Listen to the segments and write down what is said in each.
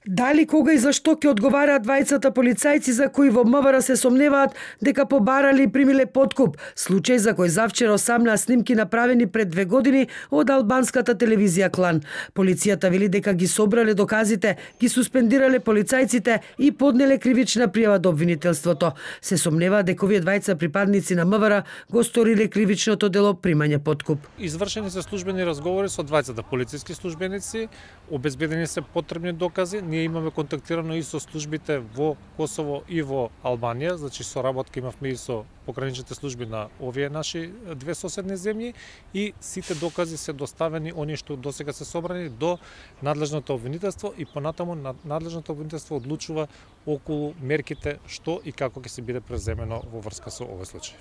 Дали, кога и зашто ќе одговараат двајцата полицајци за кои во МВР се сомневаат дека побарали и примиле подкуп, случај за кој завчера осамнаа снимки направени пред 2 години од албанската телевизија Клан. Полицијата вели дека ги собрале доказите, ги суспендирале полицајците и поднеле кривична пријава до обвинителството. Се сомневаат дека овие двајца припадници на МВР го сториле кривичното дело примање подкуп. Извршени се службени разговори со двајцата полициски службеници, обезбедени се потребни докази. Ние имаме контактирано и со службите во Косово и во Албанија, значи соработка имавме и со пограничните служби на овие наши две соседни земји и сите докази се доставени, оние што досега се собрани, до надлежното обвинителство и понатаму надлежното обвинителство одлучува околу мерките што и како ќе се биде преземено во врска со овој случај.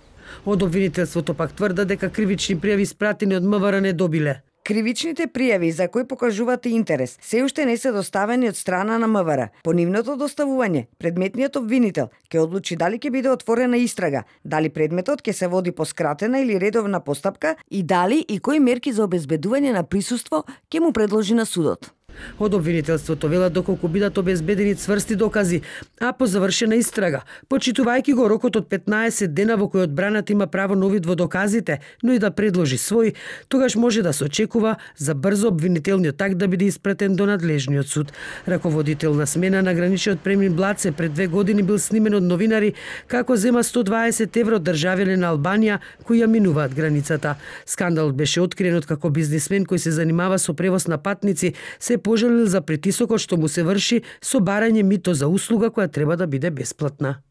Од обвинителството пак тврда дека кривични пријави испратени од МВР не добиле. Кривичните пријави за кои покажуваат интерес се уште не се доставени од страна на МВР. По нивното доставување, предметниот обвинител ќе одлучи дали ќе биде отворена истрага, дали предметот ќе се води по скратена или редовна постапка и дали и кои мерки за обезбедување на присуство ќе му предложи на судот. Од обвинителството велат доколку бидат обезбедени цврсти докази, а по завршена истрага, почитувајќи го рокот од 15 дена во кој одбраната има право на увид во доказите, но и да предложи свој, тогаш може да се очекува за брзо обвинителниот акт да биде испратен до надлежниот суд. Раководител на смена на граничниот премин Блаце пред 2 години бил снимен од новинари како зема 120 евро од државјани на Албанија кои ја минуваат границата. Скандалот беше откриен откако бизнисмен кој се занимава со превоз на патници се пожалил за притисокот што му се врши со барање мито за услуга која треба да биде бесплатна.